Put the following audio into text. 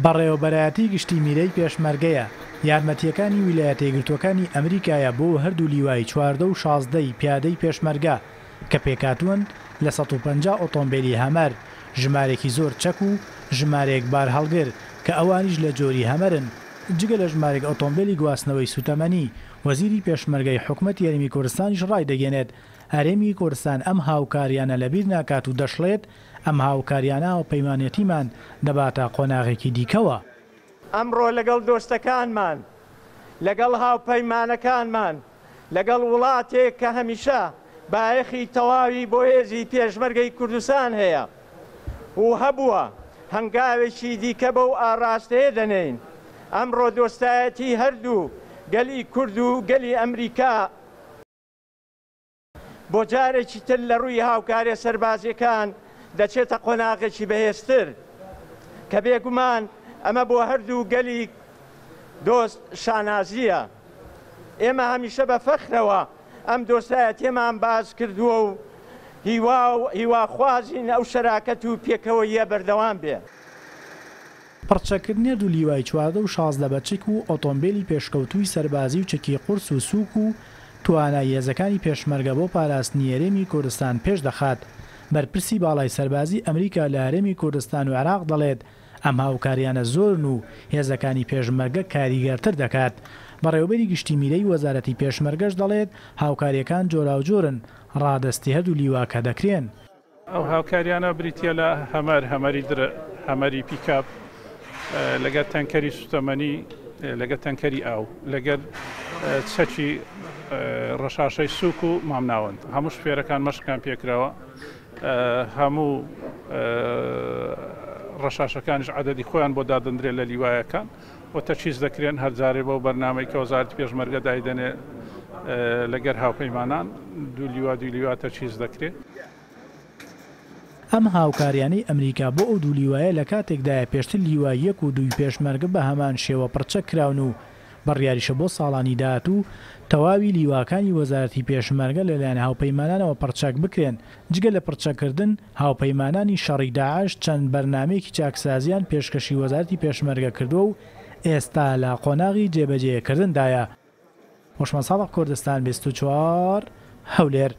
بەڕێوەبەرایەتی گشتی میرەی پێشمەرگەیە، یارمەتییەکانی ویلایەتە یەکگرتووەکانی ئەمریکایە بۆ هەردوو لیوای 14 و 16 ی پیادەی پێشمەرگە کە پێکهاتوون لە 150 ئۆتۆمبێلی هەمەر، ژمارێکی زۆر چەک و ژمارەیەک بارهەڵگر کە ئەوانیش لە جۆری هەمەرن، جگە لە ژمارێک ئۆتۆمبێلی گواستنەوەی سوتەمەنی. وەزیری پێشمەرگەی حکومەتی هەرێمی کوردستانیش ڕایدەگەیەنێت، هەرێمی کوردستان ئەم هاوکارییانە لەبیر ناکات و دەشڵێت، ئەم هاوکارییانە هاوپەیمانێتیمان دەباتە قۆناغێکی دیکەوە. ئەمڕۆ لەگەڵ دۆستەکانمان، لەگەڵ هاوپەیمانەکانمان، لەگەڵ وڵاتێک کە هەمیشە بایەخی تەواوی بۆ هێزی پێشمەرگەی کوردستان هەیە و هەبووە، هەنگاوێکی دیکە بەو ئاڕاستەیە دەنێین. ئەمڕۆ دۆستایەتی هەردوو گەلی کورد و گەلی ئەمریکا، بۆ جارێکی تر لە ڕووی هاوکاریە سەربازیەکان دەچێتە قۆناغێکی بەهێزتر کە بێگومان ئەمە بۆ هەردوو گەلی دۆست شانازیە. ئێمە هەمیشە بە فەخرەوە ئەم دۆستایەتیەمان باس کردووە و هیوا و هیواخوازین ئەو شەراکەت و پێکەوەییە بەردەوام بێ. پڕچەککردنی هەردوو لیوای 14 و 16 بە چەک و ئۆتۆمبێلی پێشکەوتووی سەربازی و چەکی قورس و سووک و توانای هێزەکانی پێشمەرگە بۆ پاراستنی هەرێمی کوردستان پێش دەخات. بەرپرسی باڵای سەربازی ئەمریکا لە هەرێمی کوردستان و عێراق دەڵێت، ئەم هاوکارییانە زۆرن و هێزەکانی پێشمەرگە کاریگەرتر دەکات. بەڕێوەبەری گشتی میرەی وەزارەتی پێشمەرگەش دەڵێت، هاوکارییەکان جۆراوجۆرن، ڕادەستی هەردوو لیواکە دەکرێن. ئەو هاوکاریانە بریتیە لە هەمەر، هەمەری درع، هەمەری پیکاب، لەگەر تەنکەری سوتەمەنی، لەگەر تەنکەری ئاو، لەگەر چەکی ڕەشاشەی سوک و مامناوەند. هەموو شوفێرەکان مەشقیان پێکراوە، هەموو ڕەشاشەکانیش عەدەدی خۆیان بۆ دادەندرێت لە لیوایەکان و تەچیز دەکرێن هەر جارێ بەو بەرنامەی کە وەزارەتی پێشمەرگە دایدەنێ لەگەر هاوپەیمانان دوو لیوا دوو لیوا تەچیز دەکرێت. ئەم هاوکاریانەی ئەمریکا بۆ ئەو دوو لیوایە لە کاتێکدایە پێشتر لیوای یەک و دووی پێشمەرگە بە هەمان شێوە پڕچەک کراون و بڕیاریشە بۆ ساڵانی داهاتوو تەواوی لیواکانی وەزارەتی پێشمەرگە لەلایەن هاوپەیمانانەوە پڕچەک بکرێن، جگە لە پڕچەککردن، هاوپەیمانانی شەڕی داعش چەند بەرنامەیەکی چاکسازییان پێشکەشی وەزارەتی پێشمەرگە کردووە و ئێستا لە قۆناغی جێبەجێکردندایە. هۆشمەند ساڵح کوردستان 24، هەولێر.